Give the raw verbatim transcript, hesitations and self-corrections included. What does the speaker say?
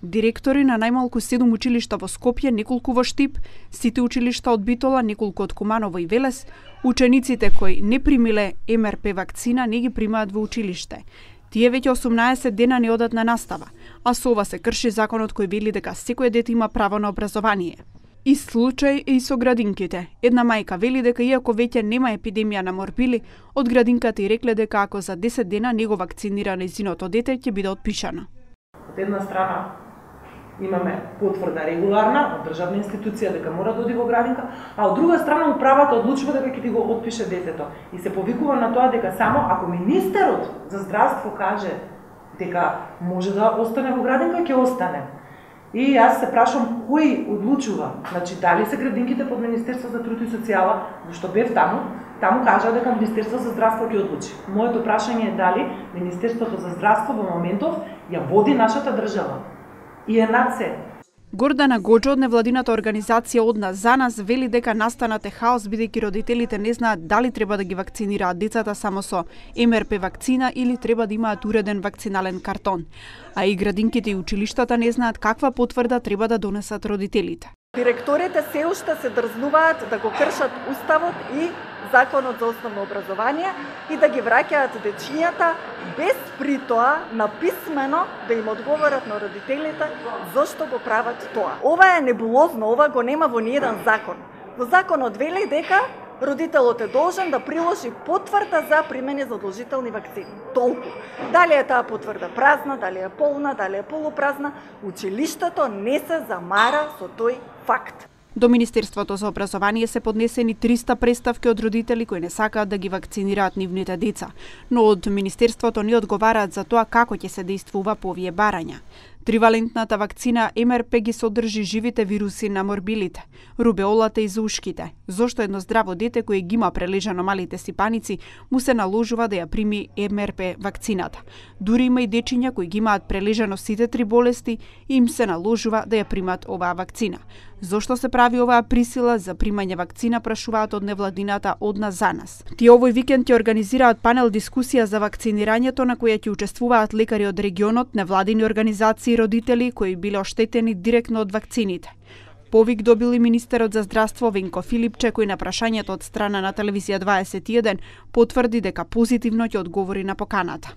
Директори на најмалку седум училишта во Скопје, неколку во Штип, сите училишта од Битола, неколку од Куманово и Велес, учениците кои не примиле Ем Ер Пе вакцина не ги примаат во училиште. Тие веќе осумнаесет дена не одат на настава, а со ова се крши законот кој вели дека секој дете има право на образование. И случај е и со градинките. Една мајка вели дека иако веќе нема епидемија на морбили, од градинката и рекле дека ако за десет дена не го вакцинира нејзиното дете, ќе биде отпишано. Од една страна имаме потврда регуларна од државна институција дека мора да оди во градинка, а од друга страна управата одлучува дека ќе ти го отпише детето. И се повикува на тоа дека само ако министерот за здравство каже дека може да остане во градинка, ќе остане. И јас се прашам кој одлучува, значи дали се градинките под Министерство за труд и социјала, зашто бев таму, таму кажа дека Министерство за здравство ќе одлучи. Моето прашање е дали Министерството за здравство во моментов ја води нашата држава и е над се. Гордана Гоџо од невладината организација Од нас за нас вели дека настанат е хаос бидејќи родителите не знаат дали треба да ги вакцинираат децата само со Ем Ер Пе вакцина или треба да имаат уреден вакцинален картон. А и градинките и училиштата не знаат каква потврда треба да донесат родителите. Директорите се уште се дрзнуваат да го кршат уставот и законот за основно образование и да ги враќаат дечињата без при тоа написмено да им одговорат на родителите зошто го прават тоа. Ова е небулозно, ова го нема во ниеден закон. Во законот вели дека родителот е должен да приложи потврда за примени задолжителни вакцини. Толку. Дали е таа потврда празна, дали е полна, дали е полупразна, училиштето не се замара со тој факт. До Министерството за образование се поднесени триста преставки од родители кои не сакаат да ги вакцинираат нивните деца, но од Министерството не одговараат за тоа како ќе се действува по овие барања. Тривалентната вакцина Ем Ер Пе ги содржи живите вируси на морбилите, рубеолата и зушките. Зошто едно здраво дете кое ги има прележано малите сипаници му се наложува да ја прими Ем Ер Пе вакцината. Дури има и дечиња кои ги имаат прележано сите три болести и им се наложува да ја примат оваа вакцина. Зошто се прави оваа присила за примање вакцина, прашуваат од невладината Од нас за нас. Тие овој викенд ќе организираат панел дискусија за вакцинирањето на која ќе учествуваат лекари од регионот, невладини организации и родители кои биле оштетени директно од вакцините. Повик добил и министерот за здравство Венко Филипче, кој на прашањето од страна на телевизија дваесет и еден потврди дека позитивно ќе одговори на поканата.